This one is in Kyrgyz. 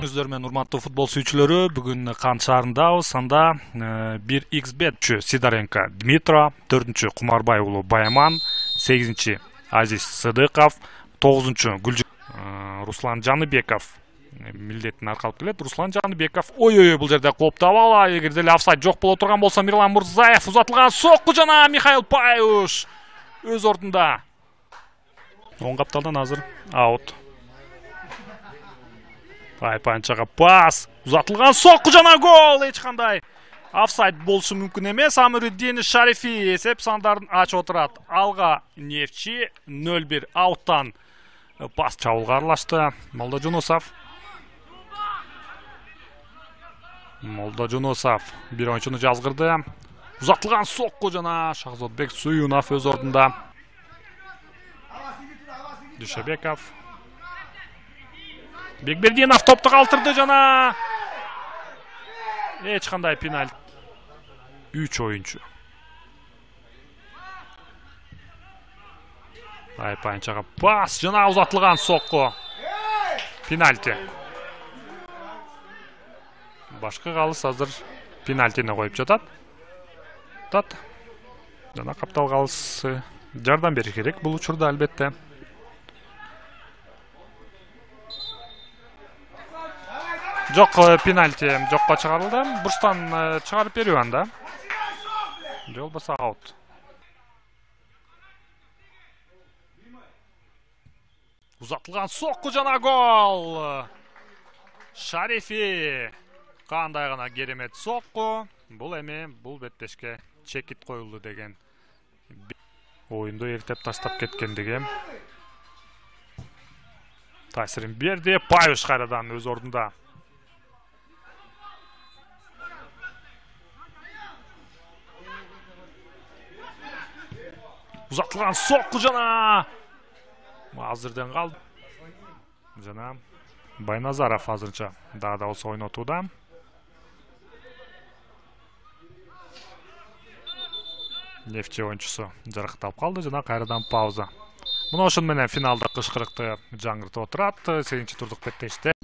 Күнүңүздөр менен урматтуу футбол сүйүүчүлөрү, бүгүн Кан шаарындабыз. Анда 1xbet Сидоренко Дмитро, 4-чү Кумарбай уулу Баяман, 8-чи Азиз Сыдыков, 9-чу Руслан Жаныбеков милдетин аркалып келет. Руслан Жаныбеков ой бул жерде кооптуу абал. Эгер деле офсайд жок боло турган болсо Мирлан Мурзаев узатылган сокку жана Михаил Паюш өз ордунда. Оң капталдан азыр аут. Панчага пас, узатылган сокку жана гол. Эч кандай офсайд болушу мүмкүн эмес. Амируддин Шарифи эсеп сандарын ачып отурат. Алга Нефчи 0-1 ауттан пас чабуулга аралашты. Молдожунусов бир ойунчуну жазгырды. Узатылган сокку жана Шахзодбек Суюнов өз ордунда. Дүйшөбеков, Бекбердинов топту калтырды жана эч кандай пенальти. 3 оюнчу. Панчага пас жана узатылган сокку. Пенальти. Башкы калыс азыр пенальтини коюп жатат. Жана каптал калысы жардам бериш керек бул учурда албетте. Жок, пенальти жокко чыгарылды. Бурчтан чыгарып берүү анда. Же болбосо аут. Узатылган сокку жана гол. Шарифи. Кандай гана керемет сокку. Бул эми бул беттешке чекит коюлду деген оюнду эртеп таштап кеткендиги таасирин берди. Паюш кайрадан өз ордунда. Узатылган сокку жана азырден калды. Жана Байназаров азырынча дагы да болсо ойнотууда. Нефчи оюнчусу жаракталып калды жана кайрадан пауза. Мына ошону менен финалда кышкырыкты жаңыртып отурат. 8-турдук беттеште